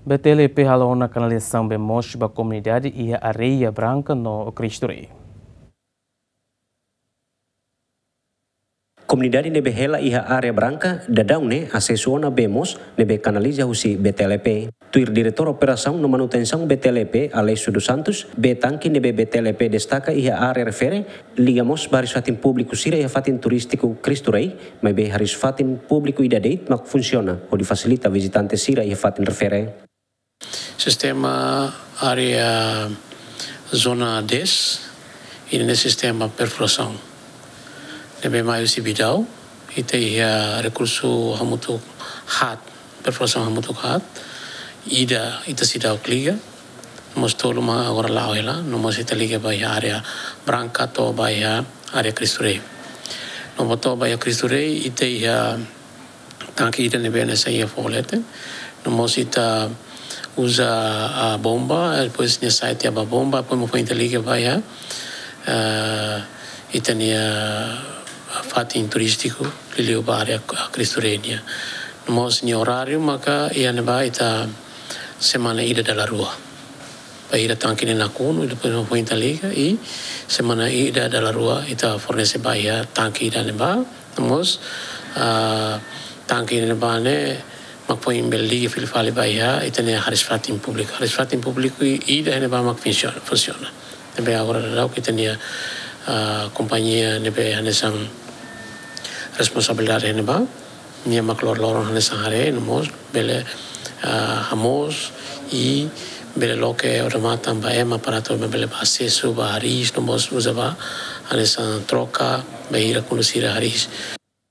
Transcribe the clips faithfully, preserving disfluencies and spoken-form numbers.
B T L P halo ona kanalizasaun bee moos ba komunidade iha Areia Branka no Cristo Rei. Komunidade ne'ebé hela iha Areia Branka daudaun ne'e asesu ona bee moos ne'ebé kanaliza husi B T L P. Tuir Diretór Operasaun no Manutensaun B T L P, Aleixo dos Santos, bee tanke ne'ebé B T L P destaka iha área refere liga mós ba hariis-fatin públiku sira iha fatin turístiku Cristo Rei, maibé hariis-fatin públiku ida de'it mak funsiona hodi fasilita vizitante sira iha fatin refere. Sistema área zona dez, ida-ne'e sistema perfurasaun ne'ebé mai husi Bidau, ita iha rekursu hamutuk haat, perfurasaun hamutuk haat, ida ita seidauk liga, no mós tolu mak agora la'o hela, no mós ita liga ba iha Areia Branka to'o ba iha área Cristo Rei. No mós to'o ba iha Cristo Rei, ita iha tanke ida ne'ebé hanesan iha foho leten. No mós ita uza, ah, bomba, depois nia sa'e tiha ba bomba, depois mak foin ita liga ba iha, ah, ita-nia fatin turístiku, liuliu ba área Cristo Rei nian. No mós nia oráriu maka iha ne'ebá ita semana ida dala rua. Bainhira tanke ne'e nakonu, depois mak foin ita liga, i semana ida dala rua ita fornese ba iha tanke ida ne'ebá, no mós, ah, tanke ne'ebá ne'e mak foin bele liga fila fali ba iha ita-nia hariis-fatin públiku. Hariis-fatin públiku i-, ida ne'ebá mak funsiona, funsiona. Ne'ebé agora daudaun ita-nia, ah, kompañia ne'ebé hanesan responsabilidade ne'ebá, nia mak lor-loron hanesan haree, no mós bele, ah, hamoos i bele loke odamatan ba ema para atu ema bele bá asesu ba hariis, no mós uza ba hanesan troka bainhira kuandu sira hariis.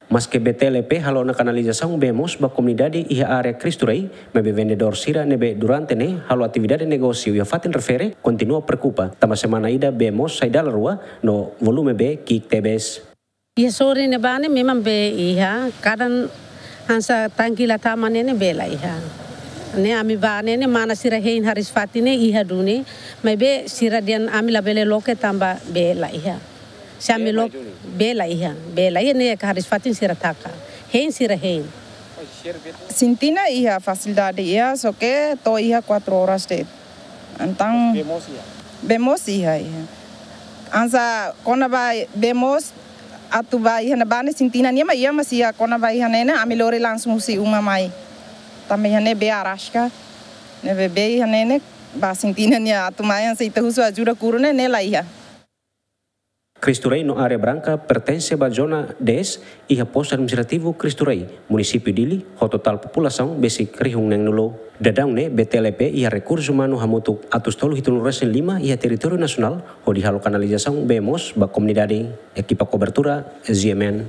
Maske B T L P halo ona kanalizasaun bee moos ba komunidade iha área Cristo Rei, maibé vendedór sira ne'ebé durante ne'e halo atividade negósiu iha fatin refere kontinua preokupa, tanba semana ida bee moos sai dala rua no volume bee ki'ik tebes. Iha sorin ne'ebá ne'e memang bee iha, kadang hanesan tanke la tama ne'e, ne'e bee la iha. Ne'e ami bá ne'e, ne'e mana sira hein hariis-fatin ne'e iha duni, maibé sira dehan ami labele loke tanba bee la iha. Se ami loke, bee la iha, bee la iha ne'e hariis-fatin sira taka. Hein sira hein. Sintina iha, fasilidade iha, só que to'o iha quatro horas de'it. Entaun bee moos iha? Bee moos iha, iha. Hanesan kona-ba bee moos atu bá iha ne'ebá ne'e sintina nian mak iha, mas iha kona-ba iha ne'e ne'e ami lori langsung husi uma mai. Tanba iha ne'e bee araska. Ne'ebé bee iha ne'e ne'e ba sintina nian atu mai hanesan ita husu ajuda kuru ne'e, ne'e la iha. Cristo Rei no Areia Branka pertense ba zona dez, iha postu administrativu Cristo Rei, munisípiu Dili, ho totál populasaun besik rihun neen-nulu. Daudaun ne'e B T L P iha rekursu umanu hamutuk atus tolu hitunulu resin lima iha territóriu nasionál, hodi halo kanalizasaun bee moos ba komunidade. Ekipa kobertura, Z M N.